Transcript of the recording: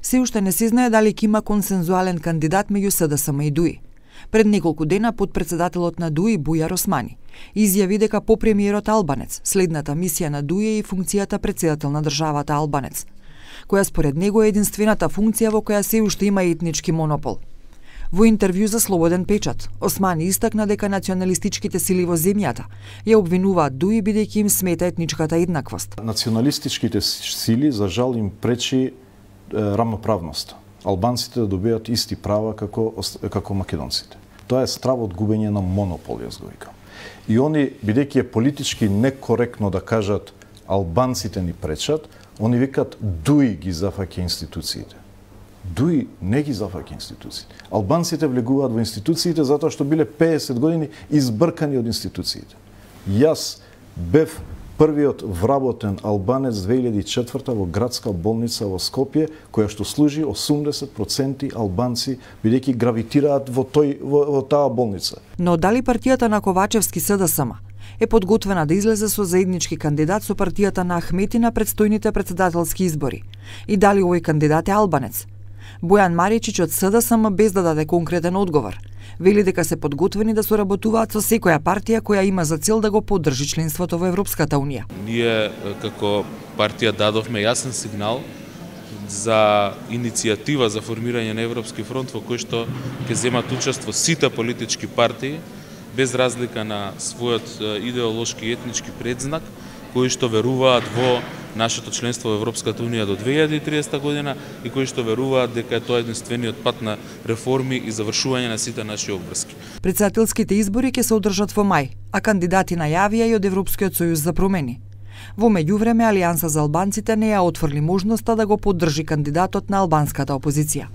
Се уште не се знае дали ќе има консензуален кандидат меѓу СДСМ и ДУИ. Пред неколку дена подпредседателот на ДУИ Бујар Османи изјави дека по премиерот албанец следната мисија на ДУИ е и функцијата председател на државата албанец, која според него е единствената функција во која се уште има етнички монопол. Во интервју за Слободен печат, Османи истакна дека националистичките сили во земјата ја обвинуваат ДУИ бидејќи им смета етничката еднаквост. Националистичките сили за жал им пречи рамноправност. Албанците да добијат исти права како македонците. Тоа е страв од губење на монопол, јас го викам. И они, бидејќи е политички некоректно да кажат албанците ни пречат, они викат ДУИ ги зафаќа институциите. ДУИ не ги зафаќа институциите. Албанците влегуваат во институциите затоа што биле 50 години избркани од институциите. Јас бев првиот вработен албанец 2004 во градска болница во Скопје, која што служи 80% албанци, бидејќи гравитираат во таа болница. Но дали партијата на Ковачевски СДСМ е подготвена да излезе со заеднички кандидат со партијата на Ахмети на предстојните председателски избори? И дали овој кандидат е албанец? Бојан Маричич од СДСМ без да даде конкретен одговор. Вели дека се подготвени да соработуваат со секоја партија која има за цел да го поддржи членството во Европската унија. Ние како партија дадовме јасен сигнал за иницијатива за формирање на Европски фронт во кој што ќе земат учество сите политички партии без разлика на својот идеолошки и етнички предзнак, кои што веруваат во нашето членство во Европската унија до 2030 година и кои што веруваат дека е тоа единствениот пат на реформи и завршување на сите наши обврски. Председателските избори ќе се одржат во мај, а кандидати најавија и од Европскиот сојуз за промени. Во меѓувреме Алијанса за албанците не ја отфрли можноста да го поддржи кандидатот на албанската опозиција.